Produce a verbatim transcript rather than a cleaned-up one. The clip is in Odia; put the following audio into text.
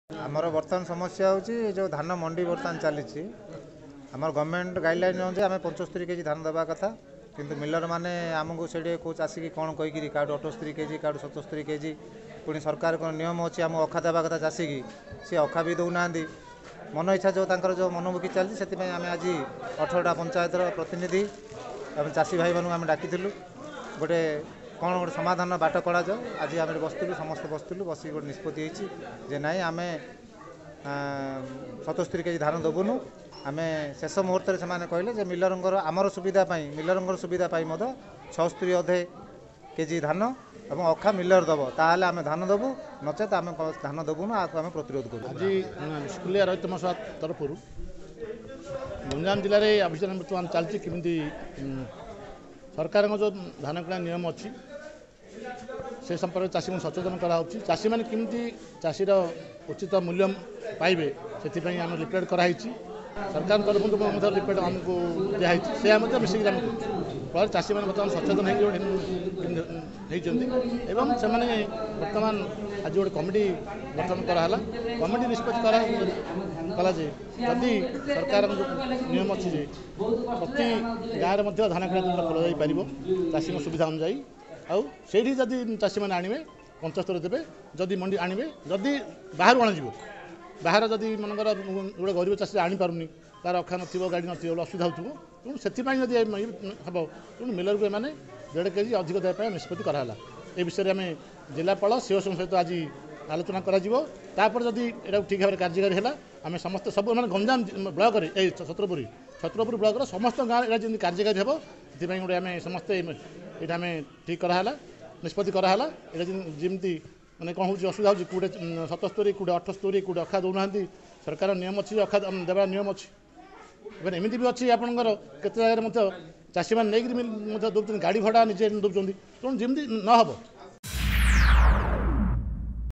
ଆମର ବର୍ତ୍ତମାନ ସମସ୍ୟା ହେଉଛି ଯେଉଁ ଧାନ ମଣ୍ଡି ବର୍ତ୍ତମାନ ଚାଲିଛି, ଆମର ଗଭର୍ଣ୍ଣମେଣ୍ଟ ଗାଇଡ଼ଲାଇନ୍ ଅନୁଯାୟୀ ଆମେ ପଞ୍ଚସ୍ତରୀ କେଜି ଧାନ ଦେବା କଥା, କିନ୍ତୁ ମିଲରମାନେ ଆମକୁ ସେଇଠି କେଉଁ ଚାଷୀକି କ'ଣ କହିକିରି କାହାଠୁ ଅଠସ୍ତରୀ କେଜି, କାହାଠୁ ସତସ୍ତରୀ କେଜି। ପୁଣି ସରକାରଙ୍କ ନିୟମ ଅଛି ଆମ ଅଖା ଦେବା କଥା ଚାଷୀକି, ସେ ଅଖା ବି ଦେଉନାହାନ୍ତି। ମନ ଇଚ୍ଛା ଯେଉଁ ତାଙ୍କର ଯେଉଁ ମନମୁଖୀ ଚାଲିଛି, ସେଥିପାଇଁ ଆମେ ଆଜି ଅଠରଟା ପଞ୍ଚାୟତର ପ୍ରତିନିଧି ଏବଂ ଚାଷୀ ଭାଇମାନଙ୍କୁ ଆମେ ଡାକିଥିଲୁ, ଗୋଟେ କ'ଣ ଗୋଟେ ସମାଧାନ ବାଟ କଢ଼ାଯାଉ। ଆଜି ଆମେ ବସିଥିଲୁ, ସମସ୍ତେ ବସିଥିଲୁ, ବସିକି ଗୋଟେ ନିଷ୍ପତ୍ତି ହେଇଛି ଯେ ନାଇଁ, ଆମେ ସତସ୍ତରୀ କେଜି ଧାନ ଦେବୁନୁ। ଆମେ ଶେଷ ମୁହୂର୍ତ୍ତରେ ସେମାନେ କହିଲେ ଯେ ମିଲରଙ୍କର ଆମର ସୁବିଧା ପାଇଁ, ମିଲରଙ୍କର ସୁବିଧା ପାଇଁ ମଧ୍ୟ ଛଅସ୍ତରୀ ଅଧେ କେଜି ଧାନ ଏବଂ ଅଖା ମିଲର ଦେବ, ତାହେଲେ ଆମେ ଧାନ ଦେବୁ, ନଚେତ ଆମେ ଧାନ ଦେବୁନୁ, ଆକୁ ଆମେ ପ୍ରତିରୋଧ କରିବୁ। ଆଜି ସ୍କୁଲିଆ ରୈତ ମହାସଭା ତରଫରୁ ଗଞ୍ଜାମ ଜିଲ୍ଲାରେ ଅଭିଯାନ ବର୍ତ୍ତମାନ ଚାଲିଛି। କେମିତି ସରକାରଙ୍କ ଯେଉଁ ଧାନ କିଣା ନିୟମ ଅଛି ସେ ସମ୍ପର୍କରେ ଚାଷୀଙ୍କୁ ସଚେତନ କରାହେଉଛି। ଚାଷୀମାନେ କେମିତି ଚାଷୀର ଉଚିତ ମୂଲ୍ୟ ପାଇବେ ସେଥିପାଇଁ ଆମେ ଲିଫ୍ଲେଟ୍ କରାହେଇଛି। ସରକାରଙ୍କ ତରଫରୁ ମଧ୍ୟ ଲିଫ୍ଲେଟ୍ ଆମକୁ ଦିଆହେଇଛି, ସେ ମଧ୍ୟ ମିଶିକି ଆମେ କରୁଛୁ। ଫଳରେ ଚାଷୀମାନେ ବର୍ତ୍ତମାନ ସଚେତନ ହେଇକି ହେଇଛନ୍ତି ଏବଂ ସେମାନେ ବର୍ତ୍ତମାନ ଆଜି ଗୋଟେ କମିଟି ଗଠନ କରାହେଲା। କମିଟି ନିଷ୍ପତ୍ତି କରା କଲା ଯେ ଯଦି ସରକାରଙ୍କ ନିୟମ ଅଛି ଯେ ପ୍ରତି ଗାଁରେ ମଧ୍ୟ ଧାନ କିଣା କେନ୍ଦ୍ର ଖୋଲାଯାଇପାରିବ ଚାଷୀଙ୍କ ସୁବିଧା ଅନୁଯାୟୀ, ଆଉ ସେଇଠି ଯଦି ଚାଷୀମାନେ ଆଣିବେ ପଞ୍ଚସ୍ତରୀ ଦେବେ, ଯଦି ମଣ୍ଡି ଆଣିବେ, ଯଦି ବାହାରୁ ଅଣାଯିବ, ବାହାର ଯଦି ମନେକର ଗୋଟେ ଗରିବ ଚାଷୀ ଆଣିପାରୁନି, ତାର ଅଖା ନଥିବ, ଗାଡ଼ି ନଥିବ, ଅସୁବିଧା ହେଉଥିବ, ତେଣୁ ସେଥିପାଇଁ ଯଦି ହେବ, ତେଣୁ ମିଲରକୁ ଏମାନେ ଦେଢ଼ କେଜି ଅଧିକ ଦେବା ପାଇଁ ନିଷ୍ପତ୍ତି କରାହେଲା। ଏ ବିଷୟରେ ଆମେ ଜିଲ୍ଲାପାଳ ସିଓସଙ୍କ ସହିତ ଆଜି ଆଲୋଚନା କରାଯିବ। ତାପରେ ଯଦି ଏଇଟାକୁ ଠିକ୍ ଭାବରେ କାର୍ଯ୍ୟକାରୀ ହେଲା, ଆମେ ସମସ୍ତେ ସବୁ ମାନେ ଗଞ୍ଜାମ ବ୍ଲକରେ, ଏଇ ଛତ୍ରପୁର ଛତ୍ରପୁର ବ୍ଲକର ସମସ୍ତ ଗାଁରେ ଏଇଟା ଯେମିତି କାର୍ଯ୍ୟକାରୀ ହେବ ସେଥିପାଇଁ ଗୋଟେ ଆମେ ସମସ୍ତେ ଏଇଟା ଆମେ ଠିକ୍ କରାହେଲା, ନିଷ୍ପତ୍ତି କରାହେଲା। ଏଇଟା ଯେମିତି ମାନେ କ'ଣ ହେଉଛି ଅସୁବିଧା ହେଉଛି, କେଉଁଠି ସତସ୍ତରୀ, କେଉଁଠି ଅଠସ୍ତରୀ, କେଉଁଠି ଅଖା ଦେଉନାହାନ୍ତି। ସରକାର ନିୟମ ଅଛି, ଅଖା ଦେବା ନିୟମ ଅଛି। ଏବେ ଏମିତି ବି ଅଛି ଆପଣଙ୍କର କେତେ ଜାଗାରେ ମଧ୍ୟ ଚାଷୀମାନେ ନେଇକରି ମଧ୍ୟ ଦେଉଛନ୍ତି, ଗାଡ଼ି ଭଡ଼ା ନିଜେ ଦେଉଛନ୍ତି। ତେଣୁ ଯେମିତି ନ ହେବ